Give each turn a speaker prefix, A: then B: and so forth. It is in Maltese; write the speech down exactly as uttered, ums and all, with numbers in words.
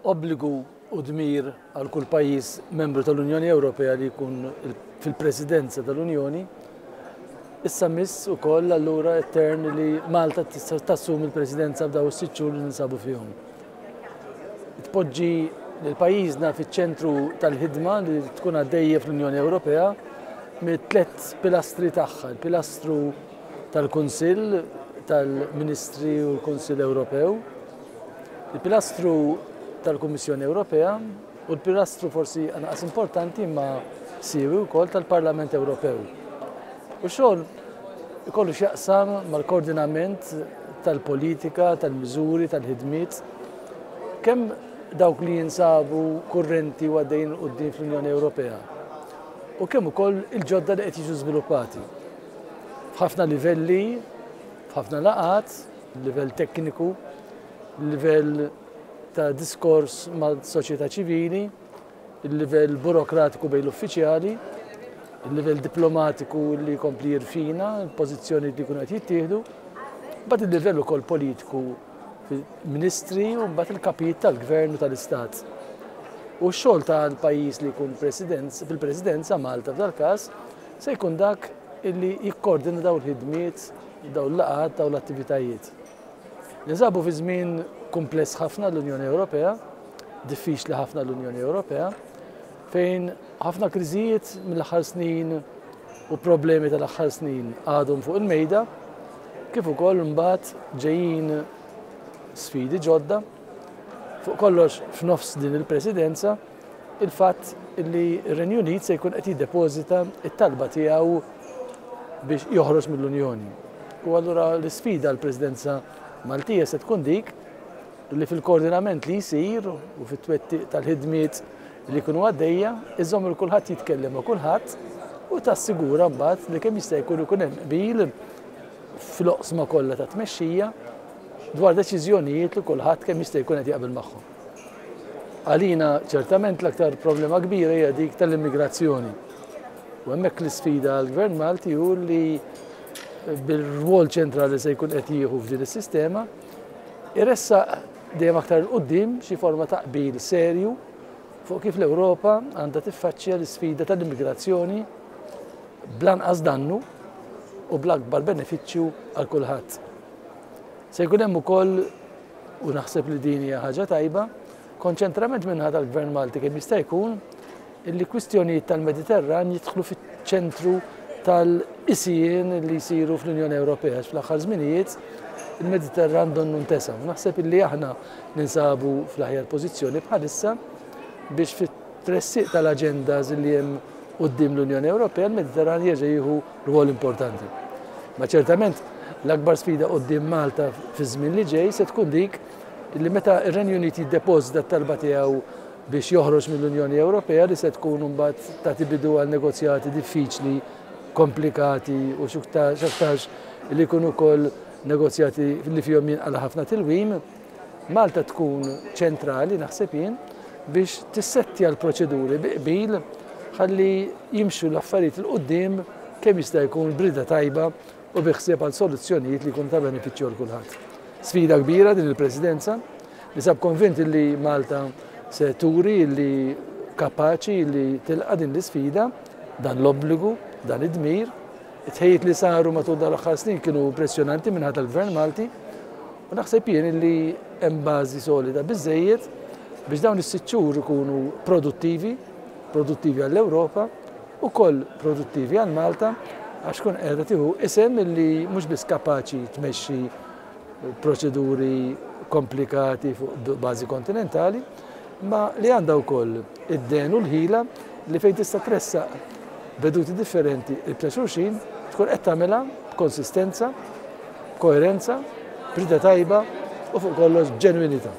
A: Obbligu u dmir għal kull pajjiż membru tal-Unjoni Ewropea li jkun fil-presidenza tal-Unjoni. Issa miss ukoll allura t-turn li Malta tassumi l-presidenza b'daw is-sitt xhur li ninsabu fihom. Tpoġġi lil pajjiżna fiċ-ċentru tal-ħidma li tkun għaddejja fl-Unjoni Ewropea mit-tliet pilastri tagħha, il-pilastru tal-Kunsill tal-Ministri u l-Kunsill Ewropew, il-pilastru tal-Kummissjoni Ewropea u l-pilastru forsi anqas importanti imma siewi wkoll tal-Parlament Ewropew. U xogħol ikollu x'jaqsam mal-koordinament tal-politika, tal-miżuri, tal-ħidmiet, kemm dawk li jinsabu kurrenti u għaddejjin quddiem fl-Unjoni Ewropea u kemm ukoll il-ġodda li qed jiġu żviluppati. F'ħafna livelli, f'ħafna laqgħat, livell tekniku, livell ta' diskors ma' soċjetà ċivili, il-livell burokratiku bejn l-uffiċjali, il-livell diplomatiku li jkompli jirfina, il-pożizzjoni li jkunu qed jittieħdu, mbagħad il-livell ukoll politiku ministri u mbagħad il-kapijiet tal-gvern u tal-istat. U x-xogħol tal-pajjiż li jkun fil-presidenza Malta f'dal-każ se jkun dak illi jikkoordina dawn il-ħidmiet, dawn l-laqgħat, dawn l-attivitajiet. Ninsabu fi żmien kumpless ħafna l-Unjoni Ewropea, diffiċli ħafna l-Unjoni Ewropea, fejn ħafna kriżijiet mill-aħħar snin u problemi tal-aħħar snin għadhom fuq il-mejda, kif ukoll mbagħad ġejjin sfidi ġodda. Fuq kollox f'nofs din il-presidenza, il-fatt li r-Renju Unit se jkun qed jiddepożita t-talba tiegħu biex joħroġ mill-Unjoni. U allura l-isfida l-Presidenza Maltija se tkun dik li fil-koordinament li jsir u fit-twettiq tal-ħidmiet li jkunu għaddejja, iżomm il kulħadd jitkellem ma' kulħadd u tassigura mbagħad li kemm jista' jkun ikun hemm qbil fl-oqsma kollha ta' tmexxija dwar deċiżjonijiet li kulħadd kemm jista' jkun qed jaqbel magħhom. Għalina ċertament l-aktar problema kbira hija dik tal-immigrazzjoni. U hemmhekk l-isfida għall-Gvern Malti hu li bil-rwol ċentrali se jkun qed jieħu f'din is-sistema, iressaq dejjem aktar 'il quddiem xi forma ta' qbil serju fuq kif l-Ewropa għandha tiffaċċja l-isfida tal-immigrazzjoni bl-anqas dannu u bl-akbar benefiċċju għal kulħadd. Se jkun hemm ukoll, u naħseb li din hija ħaġa tajba, konċentrament min-naħa tal-Gvern Malti kemm jista' jkun illi kwistjonijiet tal-Mediterran jidħlu fiċ-ċentru tal-qisien li jsiru fl-Unjoni Ewropea. Fl-aħħar żminijiet il-Mediterran donnu ntesa. Naħseb illi aħna ninsabu fl-aħjar pożizzjoni bħalissa biex fit-tressiq tal-agendas li hemm quddiem l-Unjoni Ewropea l-Mediterran jerġa' jieħu rwol importanti. Ma ċertament l-akbar sfida quddiem Malta fi żmien li ġej se tkun dik li meta r-Renju Unit jiddepożita t-talba tiegħu biex joħroġ mill-Unjoni Ewropea li se tkun imbagħad tagħti bidu għal negozjati diffiċli, komplikati u x'aktarx li jkunu wkoll negozjati li fihom jinqala' ħafna tilwim, Malta tkun ċentrali naħseb jien biex tissettja l-proċeduri bi qbil ħalli jimxu l-affarijiet 'il quddiem kemm jista' jkun b'rieda tajba u bi ħsieb għal soluzzjonijiet li jkunu ta' benefiċċju għal kulħadd. Sfida kbira din il-Presidenza, ninsab konvint li Malta se turi li kapaċi li tilqa' din l-isfida, dan l-obbligu, dan id-dmir. It-tħejjiet li saru matul dawn l-aħħar snin kienu impressjonanti min-naħa tal-Gvern Malti u naħseb jien li hemm bażi solida biżżejjed biex dawn is-sitt xhur ikunu produttivi, produttivi għall-Ewropa, ukoll produttivi għal Malta, għax tkun qiegħda tieħu isem li mhux biss kapaċi tmexxi proċeduri komplikati fuq bażi kontinentali, ma li għandha wkoll id-den u l-ħila li fejn tista' tressaq veduti differenti qrib ta' xulxin tkun qed tagħmilha b'konsistenza, b'koerenza, b'rieda tajba u fuq kollox b'ġenwinità.